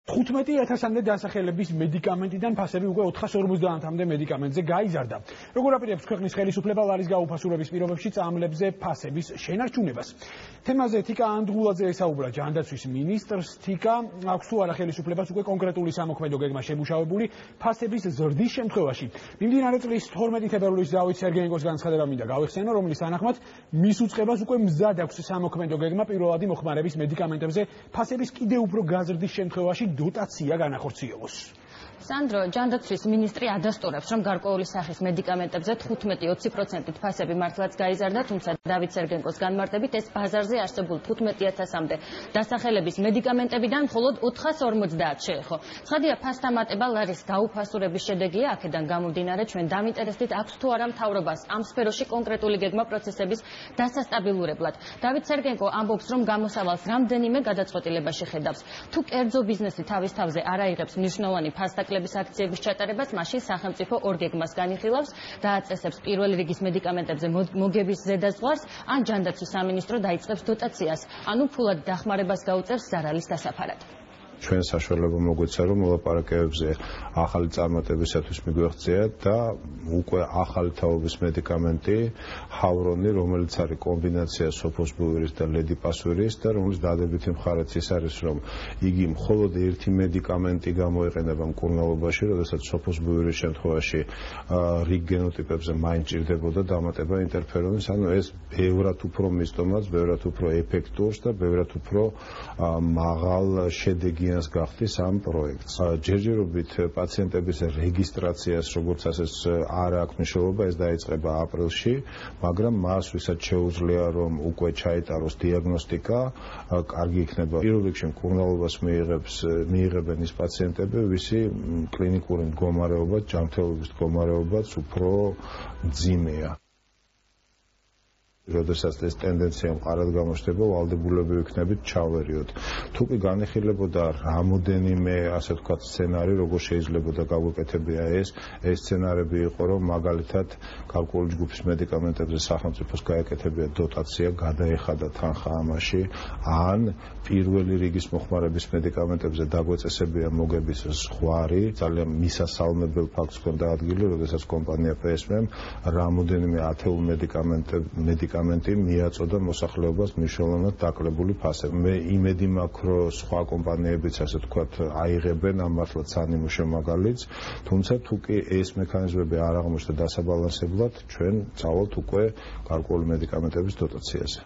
15,000-მდე დასახელების მედიკამენტიდან ფასები უკვე 450-მდე მედიკამენტზე გაიზარდა. Როგორ აპირებს ქვეყნის ხელისუფლება ლარის გაუფასურების პირობებში წამლებზე ფასების შენარჩუნებას? თემაზე თიკა ანდღულაძე ესაუბრა ჯანდაცვის მინისტრს. თიკა, აქვს თუ არა ხელისუფლებას უკვე კონკრეტული სამოქმედო გეგმა შემუშავებული ფასების ზრდის შემთხვევაში? მიმდინარე წლის 12 თებერვლის ზავით სერგეენკოს განცხადება მინდა გავიხსენო, რომლის თანახმად მის უწყებას უკვე მზად აქვს სამოქმედო გეგმა პირველადი მოხმარების მედიკამენტებზე ფასების კიდევ უფრო გაზრდის შემთხვევაში დოტაცია განახორციელოს. სანდრო, ჯანდაცვის მინისტრი ადასტურებს, რომ გარკვეული სახის მედიკამენტებზე 15-20%-ით ფასები მართლაც გაიზარდა, თუმცა დავით სერგენკოს განმარტებით ეს ბაზარზე არსებულ 15,000-მდე დასახელების მედიკამენტებიდან მხოლოდ 450 შეეხო. ცხადია, ფასთა მატება ლარის გაუფასურების შედეგია, აქედან გამომდინარე ჩვენ დავინტერესდით, აქვს თუ არა მთავრობას ამ სფეროში კონკრეტული გეგმა პროცესების დასასტაბილურებლად. დავით სერგენკო ამბობს, რომ გამოსავალს რამდენიმე გადაწყვეტილება შეხედავს. თუ კერძო ბიზნესი თავის თავზე არ აიღებს მნიშვნელოვანი ფასდაკლების აქციების ჩატარებას, მაშინ სახელმწიფო ორ გეგმას განიხილავს, დააწესებს პირველი რიგის მედიკამენტებზე მოგების ზედაზღვარს, ან ჯანდაცვის სამინისტრო დაიწყებს დოტაციას, ანუ ფულად დახმარებას გაუწევს ზარალის დასაფარად. ჩვენ საშუალება მოგვეცა, რომ მოლაპარაკებებზე ახალი წარმატებისათვის მიგვეღწიათ და უკვე ახალი თაობის მედიკამენტი ჰავრონი, რომელიც არის კომბინაცია სოფოსბუვირის და ლედიპასვირის და რომლის დადებითი მხარეც ის არის, რომ იგი მხოლოდ ერთი მედიკამენტი გამოიყენება მკურნალობაში, როდესაც სოფოსბუვირის შემთხვევაში რიგ გენოტიპებზე მაინც ჭირდებოდა დამატება ინტერფერონის, ანუ ეს ბევრად უფრო მისდომას, ბევრად უფრო ეფექტურს და ბევრად უფრო მაღალ შედეგი გახდის ამ პროექტს. ჯერჯერობით პაციენტების რეგისტრაციას, როგორც ასეც არ აქვს მნიშვნელობა, ეს დაიწყება აპრილში, მაგრამ მას ვისაც შეუძლია, რომ უკვე ჩაიტაროს დიაგნოსტიკა, კარგი იქნება. პირველ რიგში მკურნალობას მიიღებენ ის პაციენტები, ვისი კლინიკური მდგომარეობა, ჯანმრთელობის მდგომარეობაც უფრო მძიმეა. როდესაც ეს ტენდენცია მყარად გამოჩნდება, ვალდებულები ვიქნებით ჩავერიოთ. თუ კი განიხილებოდა რამოდენიმე, ასე ვთქვათ, სცენარი, როგორ შეიძლება გაგვეკეთებია ეს სცენარები იყო, რომ მაგალითად გარკვეული ჯგუფის მედიკამენტებზე სახელმწიფოს გაეკეთებია დოტაცია, გადაეხადა თანხა ამაში, ან პირველი რიგის მოხმარების მედიკამენტებზე დაგვეწესებია მოგების ზღვარი, ძალიან მისასალმებელ ფაქტს ჰქონდა ადგილი, როდესაც კომპანია PSM რამოდენიმე ათეულ მედიკამენტი მიაწოდა მოსახლეობას მნიშვნელოვნად დაკლებული ფასები. მე იმედი მაქვს, რომ სხვა კომპანიებიც, ასე ვთქვათ, აიღებენ ამ მართლაც სანიმუშო მაგალითს, თუმცა თუ კი ეს მექანიზმები არ აღმოჩნდა დასაბალანსებლად, ჩვენ წავალთ უკვე გარკვეული მედიკამენტების დოტაციაზე.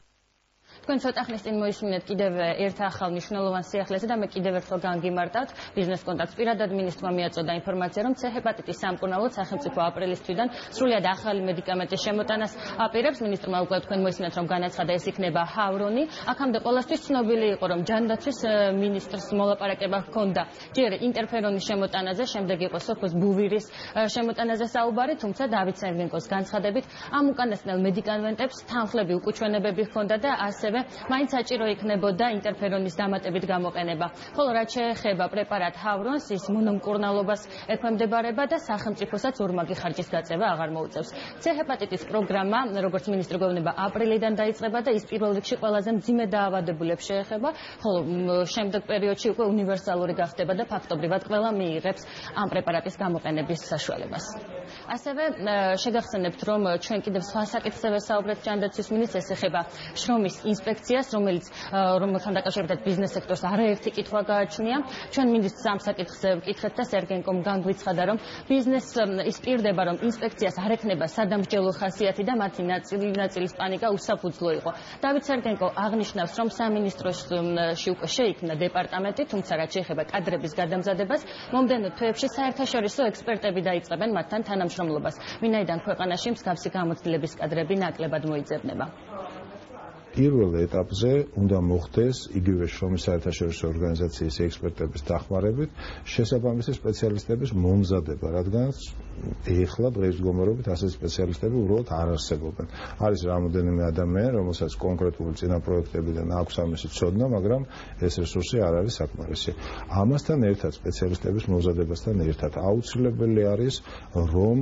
თქვენ ცოტა ხნის წინ მოისმინეთ კიდევ ერთ ახალ მნიშვნელოვან სიახლეზე და მე კიდევ ერთხელ განგიმარტავთ ბიზნეს კონტაქტს. პირადად მინისტრმა მიაწოდა ინფორმაცია, რომ C-ჰეპატიტის სამკურნალოდ სახელმწიფო აპრილის თვიდან სრულად ახალი მედიკამენტის შემოტანას აპირებს. მინისტრმა უკვე თქვენ მოისმინეთ, რომ განაცხადა, ეს იქნება ჰავრონი. აქამდე ყველასთვის ცნობილი იყო, რომ ჯანდაცვის მინისტრს მოლაპარაკება ჰქონდა ჯერ ინტერფერონის შემოტანაზე, შემდეგ იყო სოფოსბუვირის შემოტანაზე საუბარი, თუმცა დავით სერგენკოს განცხადებით ამ უკანასკნელ მედიკამენტებს თანხლები უკუჩვენებები ჰქონდა და ასევე მაინც საჭირო იქნებოდა ინტერფერონის დამატებით გამოყენება. ხოლო რაც შეეხება პრეპარატ ჰავრონს, ის მონომკურნალობას ექვემდებარება და სახელმწიფოსაც ორმაგი ხარჯის გაწევა აღარ მოუწევს. C-ჰეპატიტის პროგრამა, როგორც მინისტრი გვევნება, აპრილიდან დაიწყება და ის პირველ რიგში ყველაზე მძიმე დაავადებულებს შეეხება, ხოლო შემდეგ პერიოდში უკვე უნივერსალური გახდება და ფაქტობრივად ყველა მიიღებს ამ პრეპარატის გამოყენების საშუალებას. ასევე შეგახსენებთ, რომ ჩვენ კიდევ სხვა საკითხზე ვესაუბრეთ ჯანდაცვის მინისტრს, ეს ეხება შრომის ინსპექციას, რომელთან დაკავშირებით ბიზნეს სექტორს არაერთი კითხვა გააჩნია. ჩვენ მინისტრს ამ საკითხზე ვკითხეთ და სერგენკომ განგვიცხადა, რომ ბიზნესს ისპირდება, რომ ინსპექციას არ ექნება სადამსჯელო ხასიათი და მათი ნაწილის პანიკა უსაფუძვლო იყო. დავით სერგენკო აღნიშნავს, რომ სამინისტროში უკვე შეიქმნა დეპარტამენტი, თუმცა რაც შეეხება კადრების გადამზადებას, მომდევნო თვეებში საერთაშორისო ექსპერტები დაიწყებენ მათთან თანამშრომლობას, ვინაიდან ქვეყანაში მსგავსი გამოცდილების კადრები ნაკლებად მოიძებნება. პირველ ეტაპზე უნდა მოხდეს იგივე შრომის საერთაშორისო ორგანიზაციის ექსპერტების დახმარებით შესაბამისი სპეციალისტების მომზადება, რადგანაც ეხლა დღეს მდგომარეობით ასე სპეციალისტები უბრალოდ არ არსებობენ. არის რამოდენიმე ადამიანი, რომელსაც კონკრეტული წინაპროექტებიდან აქვს ამისი ცოდნა, მაგრამ ეს რესურსი არ არის საკმარისი. ამასთან ერთად სპეციალისტების მომზადებასთან ერთად აუცილებელი არის, რომ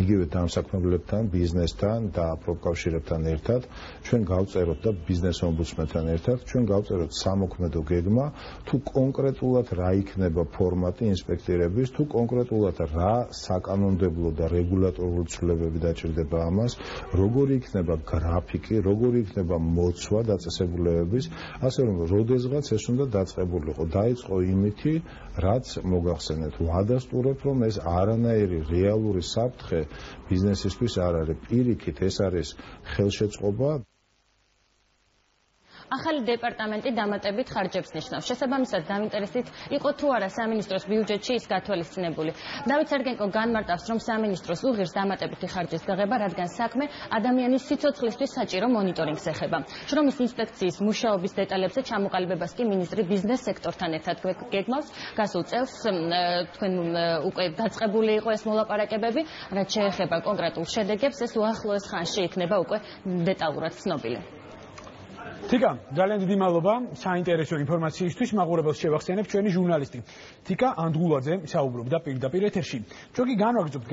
იგივე დამსაქმებლებთან, ბიზნესთან და პროფკავშირებთან ერთად ჩვენ გავწეროთ და ბიზნეს ომბუდსმენთან ერთად ჩვენ გავწეროთ სამოქმედო გეგმა, თუ კონკრეტულად რა იქნება ფორმატი ინსპექტირების, თუ კონკრეტულად რა საკანონმდებლო და რეგულატორული ცვლილებები დაჭირდება ამას, როგორი იქნება გრაფიკი, როგორი იქნება მოცვა დაწესებულებების, ასე რომ როდესღაც ეს უნდა დაწყებულიყო. დაიწყო იმითი, რაც მოგახსენეთ, ვადასტურებ, რომ ეს არანაირი რეალური საფრთხე ბიზნესისთვის არ არის. პირიქით, ეს არის ხელშეწყობა. ახალი დეპარტამენტი დამატებით ხარჯებს ნიშნავს. შესაბამისად, დაინტერესებით იყო თუ არა სამინისტროს ბიუჯეტში ის გათვალისწინებული. დავით სერგენკო განმარტავს, რომ სამინისტროს უღირს დამატებითი ხარჯის გაღება, რადგან საქმე ადამიანის სიცოცხლისთვის საჭირო მონიტორინგს ეხება. შრომის ინსპექციის მუშაობის დეტალებზე ჩამოყალიბებას კი მინისტრი ბიზნეს სექტორთან ერთად გეგმავს. გასულ წელს თქვენ უკვე დაწყებული იყო ეს მოლაპარაკებები, რაც შეეხება კონკრეტულ შედეგებს, ეს უახლოეს ხანში იქნება უკვე დეტალურად ცნობილი. თიკა, ძალიან დიდი მადლობა საინტერესო ინფორმაციისთვის. მაყურებელს შევახსენებ ჩვენი ჟურნალისტი თიკა ანდღულაძე საუბრობდა პირდაპირ ეთერში. ჩვენ კი განვაგრძობთ